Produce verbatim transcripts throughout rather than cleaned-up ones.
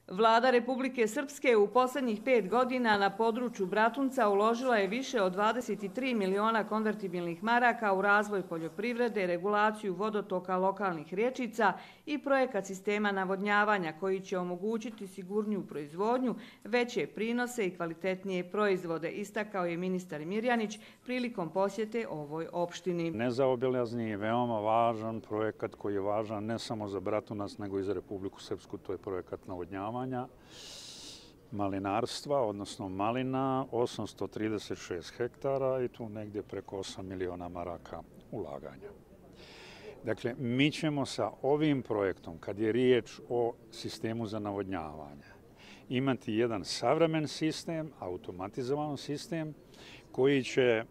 Vlada Republike Srpske u posljednjih pet godina na području Bratunca uložila je više od dvadeset tri miliona konvertibilnih maraka u razvoj poljoprivrede, regulaciju vodotoka lokalnih rječica i projekat sistema navodnjavanja koji će omogućiti sigurniju proizvodnju, veće prinose i kvalitetnije proizvode, istakao je ministar Mirjanić prilikom posjete ovoj opštini. Nezaobilazni i veoma važan projekat koji je važan ne samo za Bratunac nego i za Republiku Srpsku, to je projekat navodnjavanja malinarstva, odnosno malina, osamsto trideset šest hektara i tu negdje preko osam miliona maraka ulaganja. Dakle, mi ćemo sa ovim projektom, kad je riječ o sistemu za navodnjavanje, imati jedan savremen sistem, automatizovan sistem, koji će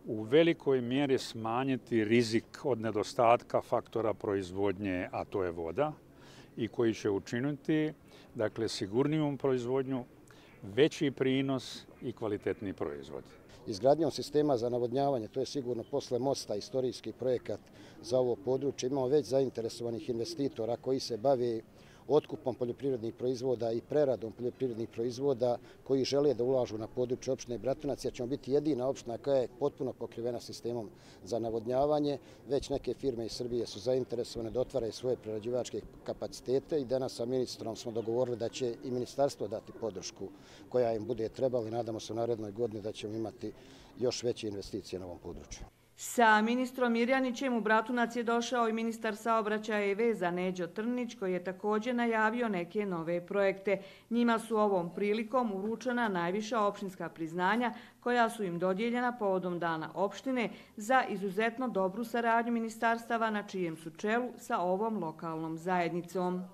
u velikoj mjeri smanjiti rizik od nedostatka faktora proizvodnje, a to je voda, i koji će učiniti dakle, sigurnijom proizvodnju, veći prinos i kvalitetniji proizvod. Izgradnjom sistema za navodnjavanje, to je sigurno posle mosta istorijski projekat za ovo područje, imamo već zainteresovanih investitora koji se bave otkupom poljoprivrednih proizvoda i preradom poljoprivrednih proizvoda koji žele da ulažu na području opštine Bratunac, jer ćemo biti jedina opština koja je potpuno pokrivena sistemom za navodnjavanje. Već neke firme iz Srbije su zainteresovane da otvaraju svoje prerađivačke kapacitete i danas sa ministrom smo dogovorili da će i ministarstvo dati podršku koja im bude trebala i nadamo se u narednoj godini da ćemo imati još veće investicije na ovom području. Sa ministrom Mirjanićem u Bratunac je došao i ministar saobraćaja i veza Neđo Trnić, koji je također najavio neke nove projekte. Njima su ovom prilikom uručena najviša opštinska priznanja koja su im dodijeljena povodom Dana opštine za izuzetno dobru saradnju ministarstava na čijem su čelu sa ovom lokalnom zajednicom.